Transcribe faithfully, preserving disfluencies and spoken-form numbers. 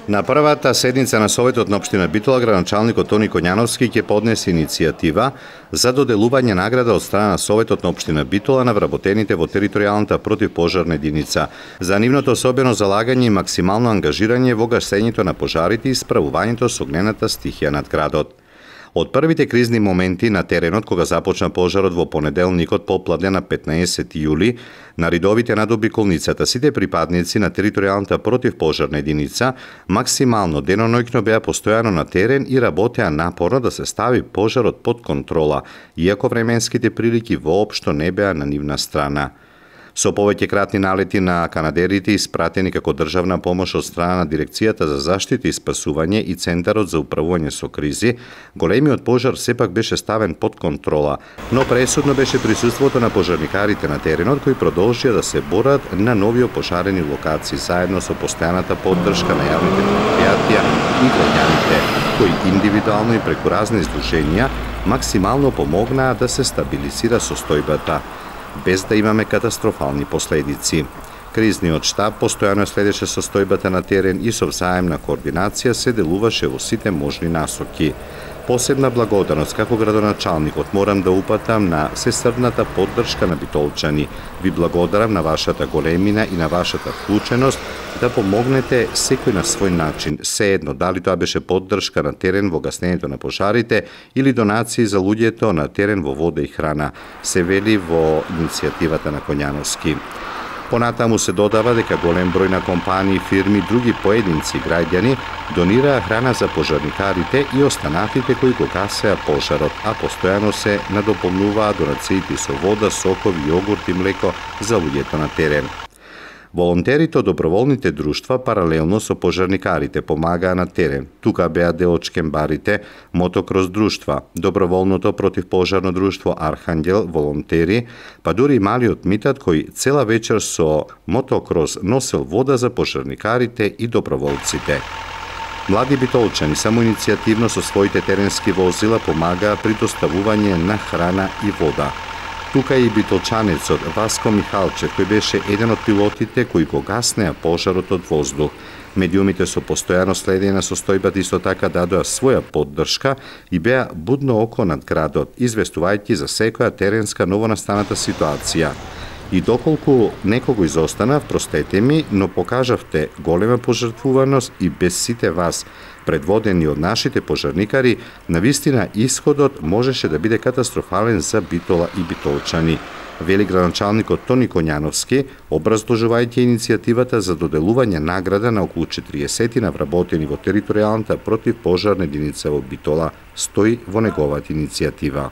На првата седница на Советот на општина Битола, градоначалникот Тони Коњановски ќе поднесе иницијатива за доделување награда од страна на Советот на општина Битола на вработените во територијалната противпожарна единица за нивното особено залагање и максимално ангажирање во гасењето на пожарите и справувањето со огнената стихија над градот. Од првите кризни моменти на теренот кога започна пожарот во понеделникот попладне на петнаесети јули, на ридовите над обиколницата сите припадници на територијалната противпожарна единица максимално деноноќно беа постојано на терен и работеа напорно да се стави пожарот под контрола, иако временските прилики воопшто не беа на нивна страна. Со повеќе кратни налети на канадерите испратени како државна помош од страна на Дирекцијата за заштита и спасување и Центарот за управување со кризи, големиот пожар сепак беше ставен под контрола, но пресудно беше присуството на пожарникарите на теренот кои продолжија да се борат на нови опожарени локации заедно со постојаната поддршка на јавните предпријатија и граѓаните, кои индивидуално и преку разни издруженија максимално помогнаа да се стабилизира состојбата, без да имаме катастрофални последици. Кризниот штаб постојано следеше состојбата на терен и со взаемна координација се делуваше во сите можни насоки. Посебна благодарност како градоначалникот морам да упатам на сесрдната поддршка на битолчани. Ви благодарам на вашата големина и на вашата вклученост да помогнете секој на свој начин, сеедно дали тоа беше поддршка на терен во гаснењето на пожарите или донации за луѓето на терен во вода и храна, се вели во иницијативата на Коњановски. Понатаму се додава дека голем број на компании, фирми, други поединци граѓани донираа храна за пожарникарите и останатите кои го гасеа пожарот, а постојано се надополнуваа донациите со вода, сокови, јогурт и млеко за луѓето на терен. Волонтерите од доброволните друштва паралелно со пожарникарите помагаа на терен. Тука беа дел од шкембарите, мотокрос друштва, доброволното противпожарно друштво Архангел, волонтери, па дури и малиот Митат кој цела вечер со мотокрос носел вода за пожарникарите и доброволците. Млади битолчани самоиницијативно со своите теренски возила помагаа при доставување на храна и вода. Тука и битолчанецот Васко Михалчев, кој беше еден од пилотите кои го гаснеа пожарот од воздух. Медиумите со постојано следење на состојбата исто така дадоа своја поддршка и беа будно око над градот, известувајќи за секоја теренска новонастаната ситуација. И доколку некого изостанав, простете ми, но покажавте голема пожртвуваност и без сите вас, предводени од нашите пожарникари, навистина исходот можеше да биде катастрофален за Битола и битолчани, вели градоначалникот Тони Коњановски, образложувајќи иницијативата за доделување награда на околу четириесет вработени во територијалната противпожарна единица во Битола, стои во неговата иницијатива.